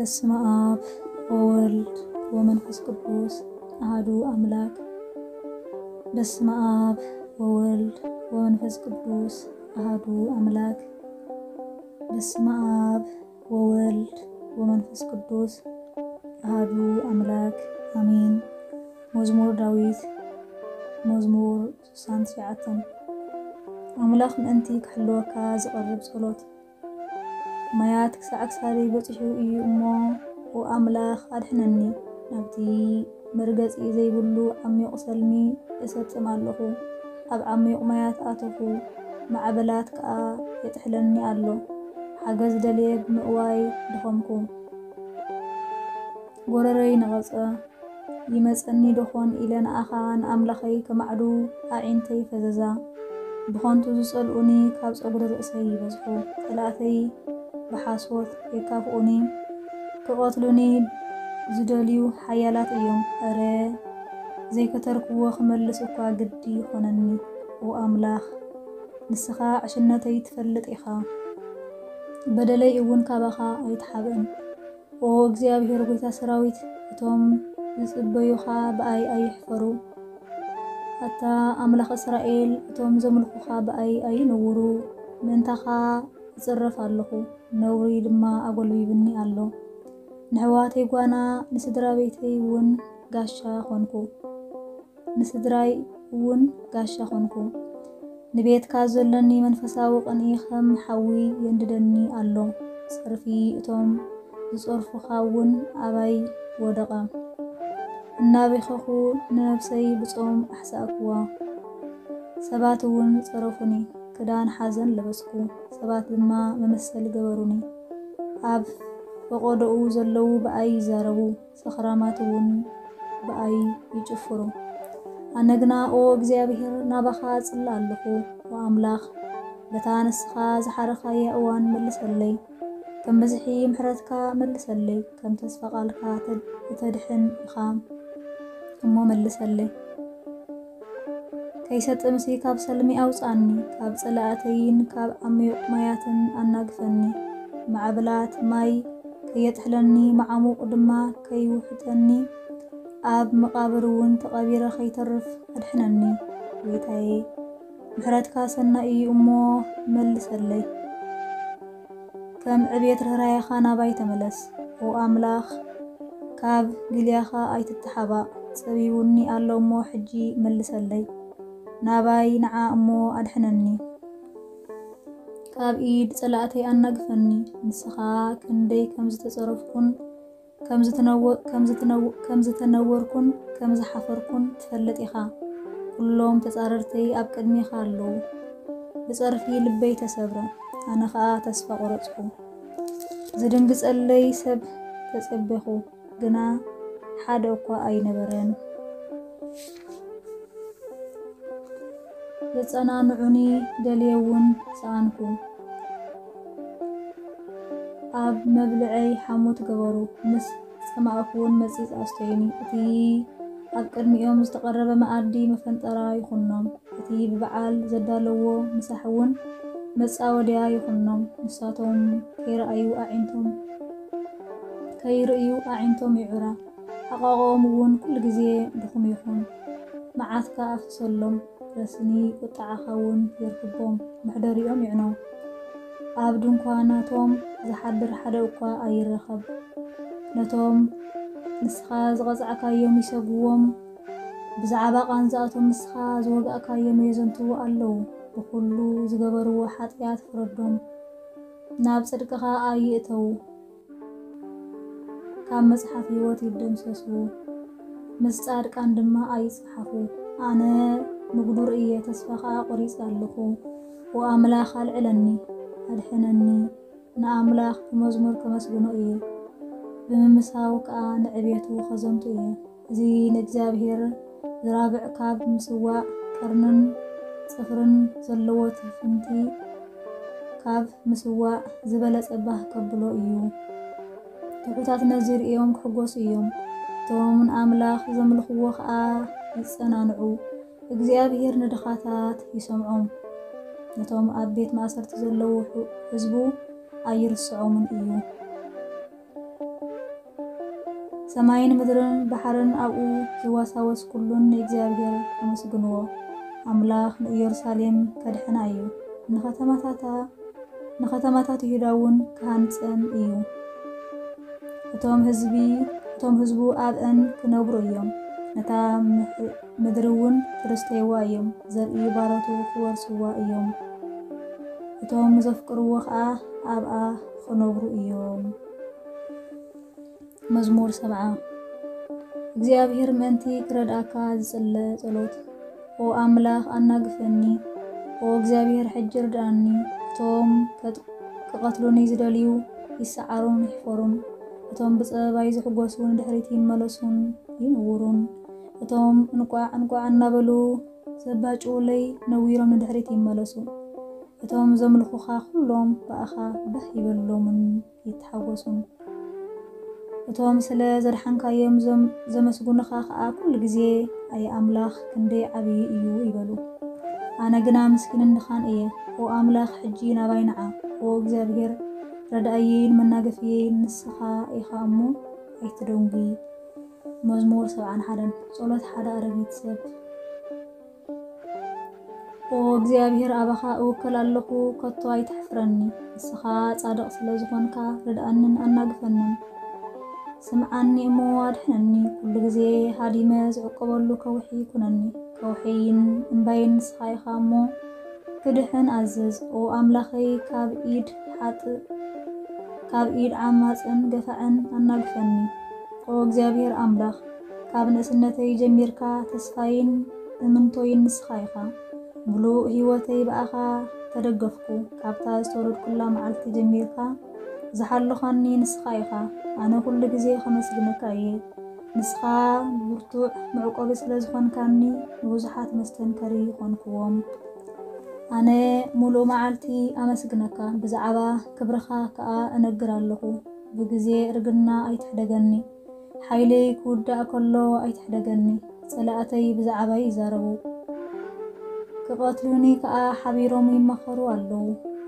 በስመ አብ ወወልድ ወመንፈስ ቅዱስ አሐዱ አምላክ። በስመ አብ ወወልድ ወመንፈስ ቅዱስ አሐዱ አምላክ። በስመ አብ ወወልድ ወመንፈስ ቅዱስ አሐዱ አምላክ አሜን። መዝሙር ዳዊት፣ መዝሙር ስሳን ትሽዓተን። ኣምላኽ ምእንቲ ክሕልወካ ዝቐርብ ጸሎት። ማያት ክሳዕ ክሳደይ በጺሑ እዩ እሞ፣ ኦ ኣምላኽ ኣድሕነኒ። ናብቲ መርገጺ ዘይብሉ ዓሚቕ ሰልሚ እሰጥም ኣለኹ። ኣብ ዓሚቕ ማያት ኣተኹ፣ ማዕበላት ከኣ የጥሕለኒ ኣሎ። ሓገዝ ደልየ ብምእዋይ ደኸምኩ። ጎረረይ ነቐጸ። ይመጸኒ ደኾን ኢለ ንኣኻ ንኣምላኸይ ከማዕዱ ኣዒንተይ ፈዘዛ። ብኸንቱ ዝጸልኡኒ ካብ ጸጉሪ ርእሰይ ይበዝሑ። ጸላእተይ ብሓሶት የካፍኡኒ። ክቐትሉኒ ዝደልዩ ሓያላት እዮም። እረ ዘይከተርክዎ ክመልስ እኳ ግዲ ይኾነኒ። ኦ ኣምላኽ፣ ንስኻ ዕሽነተይ ትፈልጥ ኢኻ። በደለይ እውን ካባኻ ኣይተሓብእን። ኦ እግዚኣብሔር ጐይታ ሰራዊት፣ እቶም ዝጽበዩኻ ብኣይ ኣይሕፈሩ። ኣታ ኣምላኽ እስራኤል፣ እቶም ዘምልኹኻ ብኣይ ኣይነውሩ። ምእንታኻ እጽረፍ ኣለኹ፣ ነውሪ ድማ ኣጎልቢብኒ ኣሎ። ንኣሕዋተይ ጓና፣ ንስድራ ቤተይ እውን ጋሻ ኾንኩ። ንስድራይ እውን ጋሻ ኾንኩ። ንቤትካ ዘሎኒ መንፈሳዊ ቅንኢ ኸም ሓዊ የንድደኒ ኣሎ። ጸርፊ እቶም ዝጸርፉኻ እውን ኣባይ ወደቐ። እናበኸኹ ንነብሰይ ብጾም ኣሕሳእክዋ። ሰባት እውን ጸረፉኒ፣ ክዳን ሓዘን ለበስኩ፣ ሰባት ድማ መመሰሊ ገበሩኒ። ኣብ ፈቐዶኡ ዘለዉ ብኣይ ይዛረቡ፣ ሰኽራማት እውን ብኣይ ይጭፍሩ። ኣነ ግና፣ ኦ እግዚኣብሔር፣ ናባኻ እጽሊ ኣለኹ። ኦ ኣምላኽ፣ በታ ንስኻ ዝሓረኻያ እዋን መልሰለይ። ከም ብዝሒ ምሕረትካ መልሰለይ፣ ከም ተስፋ ቃልካ ተድ-፣ እተድሕን ኢኻ እሞ መልሰለይ። ከይሰጥምሲ ካብ ሰልሚ ኣውጽኣኒ፣ ካብ ጸላእተይን ካብ ዓሚቕ ማያትን ኣናግፈኒ። ማዕበላት ማይ ከየጥሕለኒ፣ መዓሙቕ ድማ ከይውሕጠኒ፣ ኣብ መቓብር እውን ተቐቢረ ከይተርፍ ኣድሕነኒ። ጐይታዬ፣ ምሕረትካ ሰናይ እዩ እሞ መልሰለይ። ከም ዕቤት ርህራሄኻ ናባይ ተመለስ። ኦ ኣምላኽ፣ ካብ ግልያኻ ኣይትተሓባእ። ጸቢቡኒ ኣሎ እሞ ሕጂ መልሰለይ። ናባይ ንዓ እሞ ኣድሕነኒ። ካብ ኢድ ጸላእተይ ኣናግፈኒ። ንስኻ ክንደይ ከም ዝተጸረፍኩን ከም ዝተነወ-፣ ከም ዝተነወ-፣ ከም ዝተነወርኩን ከም ዝሓፈርኩን ትፈልጥ ኢኻ። ኩሎም ተጻረርተይ ኣብ ቅድሜኻ ኣለዉ። ብጸርፊ ልበይ ተሰብረ፣ ኣነ ኸኣ ተስፋ ቈረጽኩ። ዝድንግጸለይ ሰብ ተጸበኹ፣ ግና ሓደ እኳ ኣይነበረን። ዘጸናንዑኒ ደልየ እውን ሰኣንኩ። ኣብ መብልዐይ ሓሞት ገበሩ፣ ምስ ጸማእኩ እውን መጺጽ ኣስተዩኒ። እቲ ኣብ ቅድሚኦም ዝተቐረበ መኣዲ መፈንጠራ ይኹኖም። እቲ ብበዓል ዘዳለዎ ምሳሕ እውን መጻወድያ ይኹኖም። ንሳቶም ከይረኣዩ ኣዒንቶም፣ ከይርእዩ ኣዒንቶም ይዑራ። ሕቓቖም እውን ኩሉ ግዜ ድኹም ይኹን። መዓትካ ኣፍስሰሎም፣ ረስኒ ቁጥዓኻ እውን የርክቦም፣ መሕደሪኦም ይዕኖ። ኣብ ድንኳናቶም ዝሓድር ሓደ እኳ ኣይረኸብ። ነቶም ንስኻ ዝቐጻዕካዮም ይሰግዎም፣ ብዛዕባ ቃንዛኣቶም ንስኻ ዝወጋእካዮም የዘንትዉ ኣለዉ። ብኹሉ ዝገበርዎ ሓጢኣት ፍረዶም፣ ናብ ጽድቅኻ ኣይእተዉ። ካብ መጽሓፍ ህይወት ይደምሰሱ፣ ምስ ጻድቃን ድማ ኣይጽሓፉ። ኣነ ምጉዱር እየ፣ ተስፋ ኸኣ ቈሪጸ ኣለኹ። ኦ ኣምላኽ፣ ኣልዕለኒ፣ ኣድሕነኒ። ንኣምላኽ ብመዝሙር ከመስግኖ እየ፣ ብምምሳው ከኣ ንዕቤቱ ኸዘንቱ እየ። እዚ ንእግዚኣብሔር ዝራብዕ ካብ ምስዋእ፣ ቀርንን ጽፍርን ዘለዎ ትፍንቲ ካብ ምስዋእ ዝበለጸ ባህ ከብሎ እዩ። ትሑታት ነዚ ርእዮም ክሕጎሱ እዮም፣ እቶም ንኣምላኽ ዘምልኽዎ ኸኣ ይጸናንዑ። እግዚኣብሔር ንድኻታት ይሰምዖም፣ ነቶም ኣብ ቤት ማእሰርቲ ዘለዉ ሕ-፣ ህዝቡ ኣይርስዖምን እዩ። ሰማይን ምድርን ባሕርን ኣብኡ ዝዋሳወስ ኩሉን ንእግዚኣብሔር ኣመስግንዎ። ኣምላኽ ንኢየሩሳሌም ከድሕና እዩ፣ ንኸተማታታ ንኸተማታት ይሁዳ እውን ክሃንጸን እዩ። እቶም ህዝቢ እቶም ህዝቡ ኣብአን ክነብሩ እዮም። ነታ ምድሪ እውን ክርስተይዋ እዮም። ዘርኢ ባሮቱ ክወርስዋ እዮም። እቶም ዘፍቅርዎ ኸዓ ኣብኣ ክነብሩ እዮም። መዝሙር ሰብዓ። እግዚኣብሔር ምእንቲ ክረድኣካ ዝጽለ ጸሎት። ኦ ኣምላኽ ኣናግፈኒ፣ ኦ እግዚኣብሔር ሕጂ ርድኣኒ። እቶም ከጥ- ክቐትሉኒ ዝደልዩ ይሰዓሩን ይሕፈሩን። እቶም ብጸበባይ ዝሕጎሱ ንድሕሪት ይመለሱን ይንውሩን። እቶም እንቋዕ እንቋዕ እናበሉ ዘባጭውለይ ነዊሮም ንድሕሪት ይመለሱ። እቶም ዘምልኹኻ ኩሎም ብኣኻ ባህ ይበሎምን ይተሓጎሱን። እቶም ስለ ዘድሓንካዮም ዘም- ዘመስጉንኻ ኸኣ ኩሉ ግዜ ኣየ ኣምላኽ ክንደይ ዓብዪ እዩ ይበሉ። ኣነ ግና ምስኪንን ድኻን እየ። ኦ ኣምላኽ ሕጂ ናባይ ንዓ። ኦ እግዚኣብሔር ረዳእየይን መናገፍየይን ንስኻ ኢኻ እሞ ኣይትደንጉይ። መዝሙር ሰብዓን ሓደን። ጸሎት ሓደ ኣረጊት ሰብ። ኦ እግዚኣብሔር ኣባኻ እውከል ኣለኹ፣ ከቶ ኣይትሕፍረኒ። ንስኻ ጻድቕ ስለ ዝኾንካ ርድኣንን ኣናግፈንን። ስምዓኒ እሞ ኣድሕነኒ፣ ኩሉ ግዜ ሃዲመ ዝዕቆበሉ ከውሒ ኩነኒ። ከውሒይን እምባይን ንስኻ ኢኻ እሞ ክድሕን ኣዝዝ። ኦ ኣምላኸይ ካብ ኢድ ሓጥእ ካብ ኢድ ዓማጽን ገፋዕን ኣናግፈኒ። ኦ እግዚኣብሔር ኣምላኽ ካብ ንእስነተይ ጀሚርካ ተስፋይን እምንቶይን ንስኻ ኢኻ። ምሉእ ህይወተይ ብኣኻ ተደገፍኩ። ካብታ ዝተወለድኩላ መዓልቲ ጀሚርካ ዝሓለኻኒ ንስኻ ኢኻ። ኣነ ኩሉ ግዜ ከመስግነካ እየ። ንስኻ ብርቱዕ መዕቆቢ ስለ ዝኾንካኒ ንብዙሓት መስተንከሪ ኮንክዎም። ኣነ ሙሉእ መዓልቲ ኣመስግነካ፣ ብዛዕባ ክብርኻ ከኣ እነግር ኣለኹ። ብግዜ እርግና ኣይትሕደገኒ፣ ሓይለይ ክውዳእ ከሎ ኣይትሕደገኒ። ጸላእተይ ብዛዕባይ ይዛረቡ፣ ክቐትሉኒ ከኣ ሓቢሮም ይማኸሩ ኣለዉ።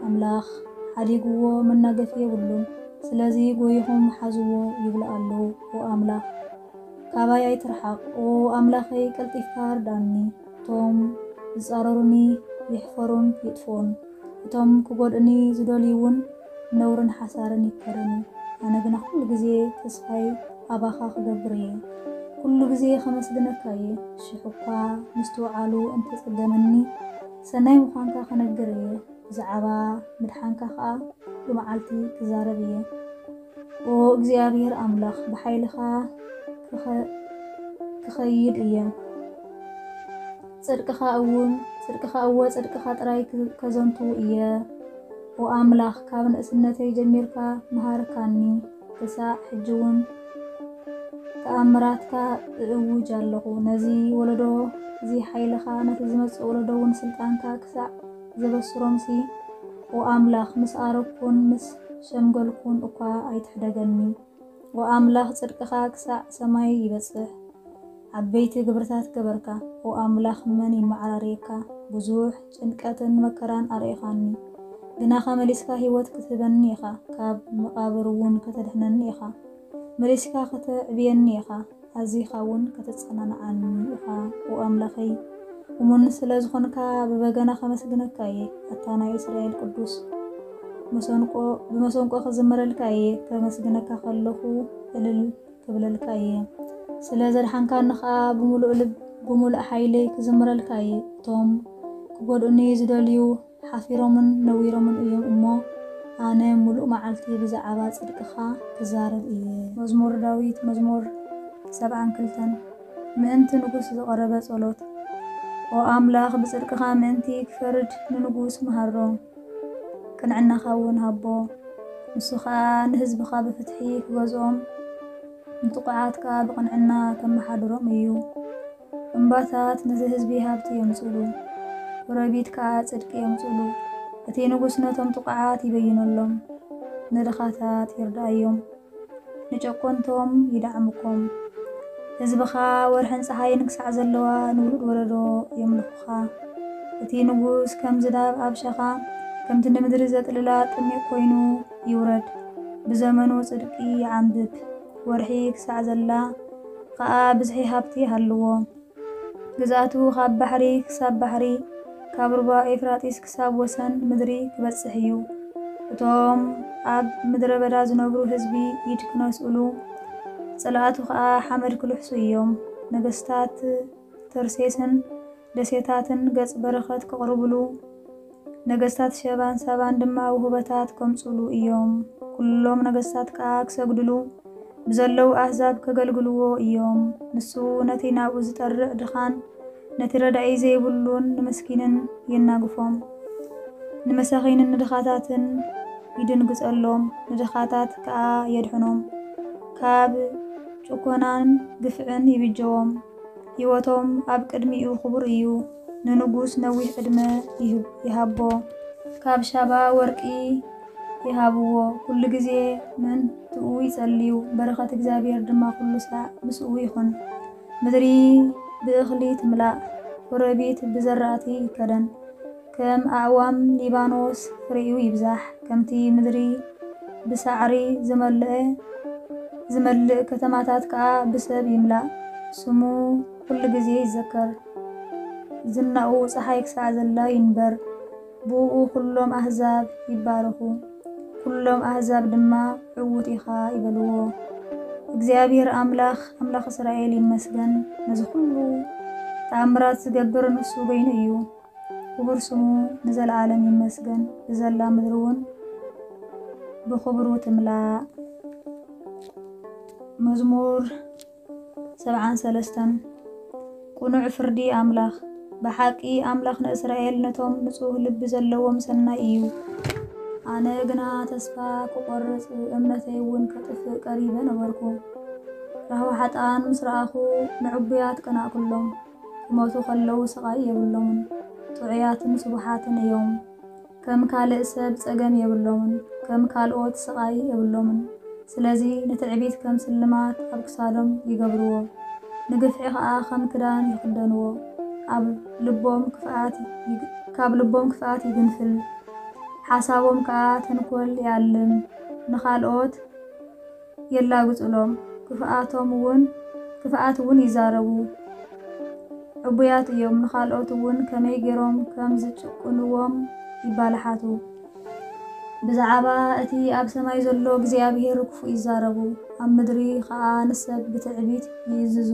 ኣምላኽ ሓዲግዎ መናገፊ የብሉን፣ ስለዚ ጎይኹም ሓዝዎ ይብሉ ኣለዉ። ኦ ኣምላኽ ካባይ ኣይትርሓቕ። ኦ ኣምላኸይ ቀልጢፍካ ርድኣኒ። እቶም ዝጻረሩኒ ይሕፈሩን ይጥፍኡን። እቶም ክጎድእኒ ዝደልዩ እውን ነውርን ሓሳርን ይከደኑ። ኣነ ግና ኩሉ ግዜ ተስፋይ ኣባኻ ክገብር እየ። ኩሉ ግዜ ከመስግነካ እየ። ሽሕ እኳ ምስትውዓሉ እንተጸገመኒ፣ ሰናይ ምዃንካ ክነግር እየ። ብዛዕባ ምድሓንካ ኸኣ ኩሉ መዓልቲ ክዛረብ እየ። ኦ እግዚኣብሔር ኣምላኽ፣ ብሓይልኻ ክኸ- ክኸይድ እየ። ጽድቅኻ እውን ጽድቅኻ እወ ጽድቅኻ ጥራይ ክ- ከዘንቱ እየ። ኦ ኣምላኽ፣ ካብ ንእስነተይ ጀሚርካ መሃርካኒ፣ ክሳዕ ሕጂ እውን ተኣምራትካ እእውጅ ኣለኹ። ነዚ ወለዶ እዚ ሓይልኻ ነቲ ዝመጽእ ወለዶ እውን ስልጣንካ ክሳዕ ዘበስሮምሲ፣ ኦ ኣምላኽ፣ ምስ ኣረግኩን ምስ ሸምገልኩን እኳ ኣይትሕደገኒ። ኦ ኣምላኽ፣ ጽድቅኻ ክሳዕ ሰማይ ይበጽሕ። ዓበይቲ ግብርታት ገበርካ። ኦ ኣምላኽ፣ መን ይመዓራርየካ? ብዙሕ ጭንቀትን መከራን ኣርእኻኒ። ግናኸ መሊስካ ህይወት ክትህበኒ ኢኻ፣ ካብ መቓብር እውን ከተድሕነኒ ኢኻ። መሊስካ ከተዕብየኒ ኢኻ፣ ኣዚኻ እውን ከተጸናንዓኒ ኢኻ። ኦ ኣምላኸይ፣ እሙን ስለ ዝኾንካ ብበገና ከመስግነካ እየ። ኣታ ናይ እስራኤል ቅዱስ፣ መሰንቆ፣ ብመሰንቆ ክዝምረልካ እየ። ከመስግነካ ከለኹ እልል ክብለልካ እየ። ስለ ዘድሓንካኒ ኸኣ ብምሉእ ልብ፣ ብምሉእ ሓይለይ ክዝምረልካ እየ። እቶም ክጎድኡኒ ዝደልዩ ሓፊሮምን ነዊሮምን እዮም እሞ፣ ኣነ ምሉእ መዓልቲ ብዛዕባ ጽድቅኻ ክዛረብ እየ። መዝሙር ዳዊት፣ መዝሙር ሰብዓን ክልተን። ምእንቲ ንጉስ ዝቐረበ ጸሎት። ኦ ኣምላኽ፣ ብጽድቅኻ ምእንቲ ክፈርድ ንንጉስ መሃሮ፣ ቅንዕናኻ እውን ሃቦ። ንሱ ኸኣ ንህዝብኻ ብፍትሒ ክገዝኦም፣ ንጥቑዓት ከኣ ብቕንዕና ከመሓድሮም እዩ። እምባታት ነዚ ህዝቢ ሃብቲ የምጽሉ፣ ጎረቢት ከኣ ጽድቂ የምጽሉ። እቲ ንጉስ ነቶም ጥቑዓት ይበይነሎም፣ ንድኻታት ይርድኣዮም፣ ንጨቆንቶም ይደዓምኮም። ህዝብኻ ወርሕን ጸሓይን ክሳዕ ዘለዋ ንውሉድ ወለዶ የምልኹኻ። እቲ ንጉስ ከም ዝናብ ኣብ ሸኻ፣ ከምቲ ንምድሪ ዘጥልላ ጥሜት ኮይኑ ይውረድ። ብዘመኑ ጽድቂ ይዓንብብ፣ ወርሒ ክሳዕ ዘላ ኸኣ ብዝሒ ሃብቲ ሃልዎ። ግዝኣቱ ካብ ባሕሪ ክሳብ ባሕሪ፣ ካብ ሩባ ኤፍራጢስ ክሳብ ወሰን ምድሪ ክበጽሕ እዩ። እቶም ኣብ ምድረ በዳ ዝነብሩ ህዝቢ ኢድ ክነስእሉ፣ ጽልኣቱ ኸኣ ሓመድ ክልሕሱ እዮም። ነገስታት ተርሴስን ደሴታትን ገጽ በረኸት ከቕርብሉ፣ ነገስታት ሸባን ሳባን ድማ ውህበታት ከምጽሉ እዮም። ኩሎም ነገስታት ከኣ ክሰግድሉ ብዘለዉ ኣህዛብ ከገልግልዎ እዮም። ንሱ ነቲ ናብኡ ዝጠርዕ ድኻን ነቲ ረዳኢ ዘይብሉን ንምስኪንን የናግፎም። ንመሳኺንን ንድኻታትን ይድንግጸሎም፣ ንድኻታት ከኣ የድሕኖም። ካብ ጭኮናን ግፍዕን ይብጀዎም። ህይወቶም ኣብ ቅድሚኡ ክቡር እዩ። ንንጉስ ነዊሕ ዕድመ ይህብ-፣ ይሃቦ። ካብ ሻባ ወርቂ ይሃብዎ። ኩሉ ግዜ ምእንትኡ ይጸልዩ። በረኸት እግዚኣብሔር ድማ ኩሉ ሳዕ ምስኡ ይኹን። ምድሪ ብእኽሊ ትምላእ፣ ኮረቢት ብዘራእቲ ይከደን። ከም ኣእዋም ሊባኖስ ፍሬኡ ይብዛሕ። ከምቲ ምድሪ ብሳዕሪ ዝመልአ፣ ዝመልእ፣ ከተማታት ከኣ ብሰብ ይምላእ። ስሙ ኩሉ ግዜ ይዘከር። ዝናኡ ጸሓይ ክሳዕ ዘላ ይንበር። ብእኡ ኩሎም ኣህዛብ ይባረኹ። ኩሎም ኣህዛብ ድማ ዕዉት ኢኻ ይበልዎ። እግዚኣብሔር ኣምላኽ፣ ኣምላኽ እስራኤል ይመስገን። ነዚ ኩሉ ተኣምራት ዝገብር ንሱ በይኑ እዩ። ክቡር ስሙ ንዘለዓለም ይመስገን። ብዘላ ምድሪ እውን ብኽብሩ ትምላእ። መዝሙር ሰብዓን ሰለስተን። ቅኑዕ ፍርዲ ኣምላኽ። ብሓቂ ኣምላኽ ንእስራኤል ነቶም ንጹህ ልቢ ዘለዎም ሰናይ እዩ። ኣነ ግና ተስፋ ክቖርጽ እምነተይ እውን ከጥፍእ ቀሪበ ነበርኩ። ራህዋ ሓጥኣን ምስ ረኣኹ ንዕቡያት ቀናእኩሎም። ክሞቱ ከለዉ ስቓይ የብሎምን። ጥዑያትን ስቡሓትን እዮም። ከም ካልእ ሰብ ጸገም የብሎምን፣ ከም ካልኦት ስቓይ የብሎምን። ስለዚ ንትዕቢት ከም ስልማት ኣብ ክሳዶም ይገብርዎ፣ ንግፍዒ ኸኣ ከም ክዳን ይኽደንዎ። ኣብ ልቦም ክፍኣት ይግ-፣ ካብ ልቦም ክፍኣት ይግንፍል፣ ሓሳቦም ከኣ ተንኮል ይኣልም። ንኻልኦት የላግጹሎም፣ ክፍኣቶም እውን፣ ክፍኣት እውን ይዛረቡ። ዕቡያት እዮም፣ ንኻልኦት እውን ከመይ ገይሮም ከም ዝጭቁንዎም ይባልሓቱ። ብዛዕባ እቲ ኣብ ሰማይ ዘሎ እግዚኣብሔር ክፉእ ይዛረቡ፣ ኣብ ምድሪ ኸኣ ንሰብ ብትዕቢት ይእዝዙ።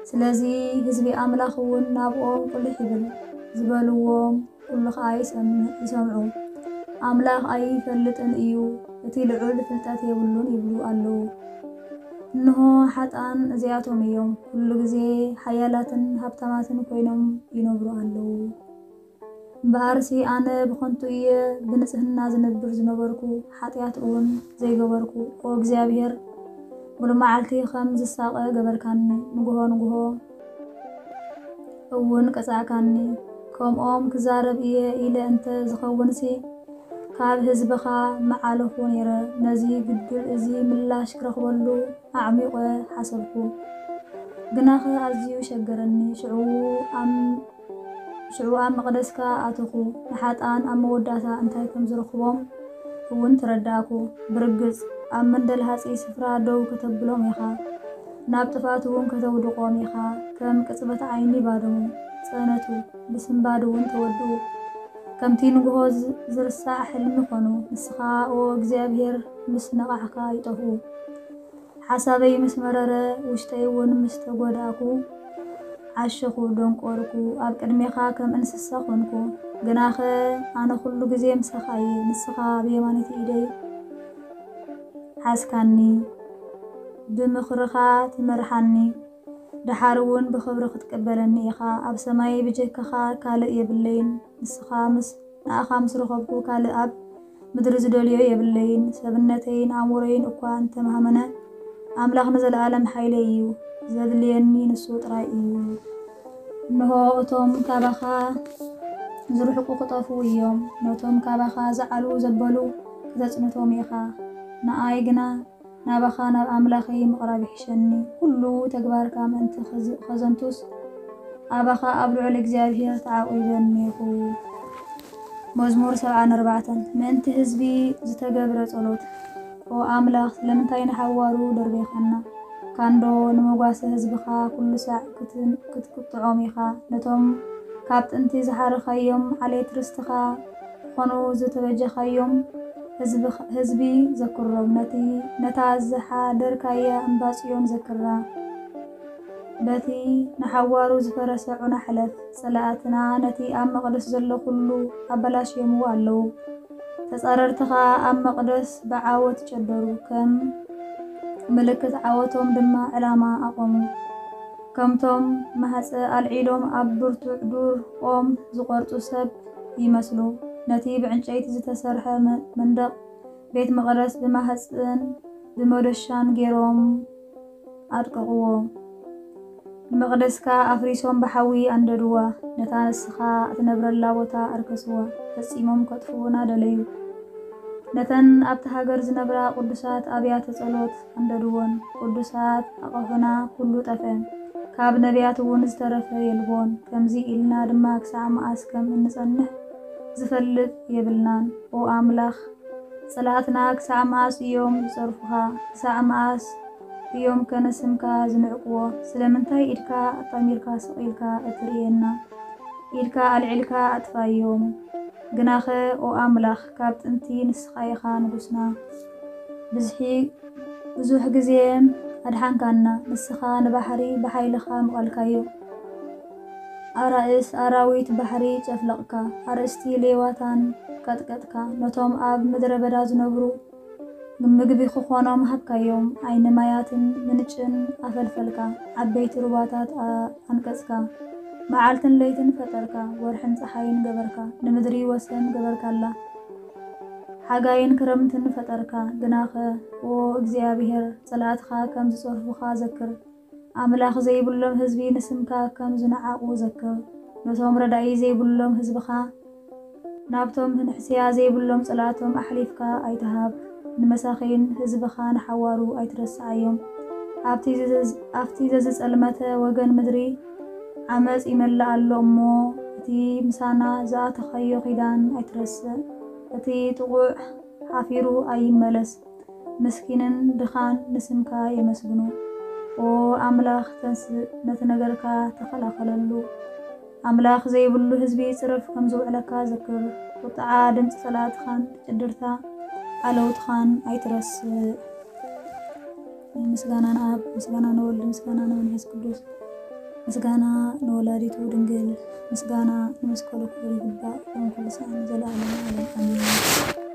ስለዚ ህዝቢ ኣምላኽ እውን ናብኦም ቁልሕ ይብል፣ ዝበልዎም ኩሉ ኸኣ ይሰምዕ-፣ ይሰምዑ። ኣምላኽ ኣይፈልጥን እዩ፣ እቲ ልዑል ፍልጠት የብሉን ይብሉ ኣለዉ። እንሆ ሓጥኣን እዚኣቶም እዮም፣ ኩሉ ግዜ ሓያላትን ሃብታማትን ኮይኖም ይነብሩ ኣለዉ። እምበኣርሲ ኣነ ብኸንቱ እየ ብንጽህና ዝነብር ዝነበርኩ፣ ሓጢኣት እውን ዘይገበርኩ። ኦ እግዚኣብሔር፣ ሙሉእ መዓልቲ ከም ዝሳቐ ገበርካኒ፣ ንግሆ ንግሆ እውን ቀጻዕካኒ። ከምኦም ክዛረብ እየ ኢለ እንተ ዝኸውንሲ፣ ካብ ህዝብኻ ምዓለኹ ነይረ። ነዚ ግድል እዚ ምላሽ ክረኽበሉ ኣዕሚቑ ሓሰብኩ። ግናኸ ኣዝዩ ሸገረኒ። ሽዑ ኣብ፣ ሽዑ ኣብ መቕደስካ ኣተኹ። ንሓጥኣን ኣብ መወዳእታ እንታይ ከም ዝረኽቦም እውን ተረዳእኩ። ብርግጽ ኣብ መንደልሃጺ ስፍራ ደው ከተብሎም ኢኻ፣ ናብ ጥፍኣት እውን ከተውድቖም ኢኻ። ከም ቅጽበት ዓይኒ ባደሙ፣ ጸነቱ፣ ብስንባድ እውን ተወድኡ። ከምቲ ንግሆ ዝ-፣ ዝርሳዕ ሕልሚ ኾኑ። ንስኻ፣ ኦ እግዚኣብሔር፣ ምስ ነቓሕካ ይጠፍኡ። ሓሳበይ ምስ መረረ፣ ውሽጠይ እውን ምስ ተጎዳእኩ፣ ዓሸኹ፣ ደንቆርኩ፣ ኣብ ቅድሜኻ ከም እንስሳ ኾንኩ። ግናኸ ኣነ ኩሉ ግዜ ምሳኻ እየ፣ ንስኻ ብየማነይቲ ኢደይ ሓዝካኒ፣ ብምኽርኻ ትመርሓኒ፣ ደሓር እውን ብኽብሪ ክትቅበለኒ ኢኻ። ኣብ ሰማይ ብጀካኻ ካልእ የብለይን፣ ንስኻ ምስ፣ ንኣኻ ምስ ረኸብኩ ካልእ ኣብ ምድሪ ዝደልዮ የብለይን። ሰብነተይን ኣእምሮይን እኳ እንተመሃመነ፣ ኣምላኽ ንዘለኣለም ሓይለይ እዩ። ዘድልየኒ ንሱ ጥራይ እዩ። እንሆ፣ እቶም ካባኻ ዝርሕቁ ክጠፍኡ እዮም። ነቶም ካባኻ ዝዓልዉ ዘበሉ ከተጽንቶም ኢኻ። ንኣይ ግና ናባኻ ናብ ኣምላኸይ ምቕራብ ይሕሸኒ። ኩሉ ተግባርካ ምእንቲ ኸዝ-፣ ኸዘንቱስ፣ ኣባኻ ኣብ ልዑል እግዚኣብሔር ተዓቒበ እኒኹ። መዝሙር ሰብዓን ኣርባዕተን። ምእንቲ ህዝቢ ዝተገብረ ጸሎት። ኦ ኣምላኽ፣ ስለምንታይ ንሓዋሩ ደርቤኻና? ካንዶ ንመጓሰ ህዝብኻ ኩሉ ሳዕ ክትን-፣ ክትቅጥዖም ኢኻ? ነቶም ካብ ጥንቲ ዝሓረኻዮም ዓሌት ርስትኻ ክኾኑ ዝተበጀኻዮም ህዝብኻ-፣ ህዝቢ ዘክሮም። ነቲ፣ ነታ ዝሓደርካያ እምባ ጽዮን ዘክራ። በቲ ንሓዋሩ ዝፈረሰ ዑና ሕለፍ። ጸላእትና ነቲ ኣብ መቕደስ ዘሎ ኩሉ ኣበላሽዮምዎ ኣለዉ። ተጻረርትኻ ኣብ መቕደስ ብዓወት ጨደሩ፣ ከም ምልክት ዓወቶም ድማ ዕላማ ኣቖሙ። ከምቶም ማሕጸ ኣልዒሎም ኣብ ብርቱዕ ዱር ኦም ዝቖርጹ ሰብ ይመስሉ። ነቲ ብዕንጨይቲ ዝተሰርሐ መ-፣ መንደቕ ቤት መቕደስ ብማሕጽን ብመዶሻን ገይሮም ኣድቀቕዎ። ንመቕደስካ ኣፍሪሶም ብሓዊ ኣንደድዋ። ነታ ንስኻ እትነብረላ ቦታ ኣርከስዋ። ፈጺሞም ከጥፍኡና ደለዩ። ነተን ኣብቲ ሃገር ዝነብራ ቅዱሳት ኣብያተ ጸሎት ኣንደድወን። ቅዱሳት ኣቕሑና ኩሉ ጠፍአ። ካብ ነቢያት እውን ዝተረፈ የልቦን። ከምዚ ኢልና ድማ ክሳዕ መኣስ ከም እንጸንሕ ዝፈልጥ የብልናን። ኦ ኣምላኽ፣ ጸላእትና ክሳዕ መኣስ እዮም ዝጸርፉኻ? ክሳዕ መኣስ እዮም ከ ንስምካ ዝንዕቅዎ? ስለምንታይ ኢድካ ኣጣሚርካ ስቕ ኢልካ እትርእየና? ኢድካ ኣልዒልካ ኣጥፋዮም። ግናኸ ኦ ኣምላኽ፣ ካብ ጥንቲ ንስኻ ኢኻ ንጉስና። ብዝሒ፣ ብዙሕ ግዜ ኣድሓንካና። ንስኻ ንባሕሪ ብሓይልኻ ምቐልካዮ። ኣራእስ ኣራዊት ባሕሪ ጨፍለቕካ። ኣርእስቲ ሌዋታን ቀጥቀጥካ። ነቶም ኣብ ምድረ በዳ ዝነብሩ ምግቢ ክኾኖም ሃብካዮም። ዓይኒ ማያትን ምንጭን ኣፈልፈልካ። ዓበይቲ ሩባታት ኣ-፣ ኣንቀጽካ። መዓልትን ለይትን ፈጠርካ። ወርሕን ጸሓይን ገበርካ። ንምድሪ ወሰን ገበርካላ። ሓጋይን ክረምትን ፈጠርካ። ግናኸ፣ ኦ እግዚኣብሔር፣ ጸላእትኻ ከም ዝጸርፉኻ ዘክር። ኣምላኽ ዘይብሎም ህዝቢ ንስምካ ከም ዝነዓቑ ዘክር። ነቶም ረዳኢ ዘይብሎም ህዝብኻ፣ ናብቶም ንሕስያ ዘይብሎም ጸላእቶም ኣሕሊፍካ ኣይትሃብ። ንመሳኺን ህዝብኻ ንሓዋሩ ኣይትረስዓዮም። ኣብቲ ዘዝ-፣ ኣብቲ ዘዝጸልመተ ወገን ምድሪ ዓመጽ ይመልእ ኣሎ እሞ፣ እቲ ምሳና ዝኣተኻዮ ኪዳን ኣይትረስዕ። እቲ ጥቑዕ ሓፊሩ ኣይመለስ። ምስኪንን ድኻን ንስምካ የመስግኑ። ኦ ኣምላኽ፣ ተንስእ፣ ነቲ ነገርካ ተኸላኸለሉ። ኣምላኽ ዘይብሉ ህዝቢ ጽረፍ ከም ዝውዕለካ ዘክር። ቁጥዓ ድምጺ ጸላእትኻን ጭድርታ ዓለውትኻን ኣይትረስእ። ምስጋና ንኣብ፣ ምስጋና ንወልድ፣ ምስጋና ንመንፈስ ቅዱስ፣ ምስጋና ንወላዲቱ ድንግል፣ ምስጋና ንመስቀሉ ክቡር ይግባእ፣ ሎም ኩሉ ሰዓት ንዘለዓለመ ዓለም ኣሜን።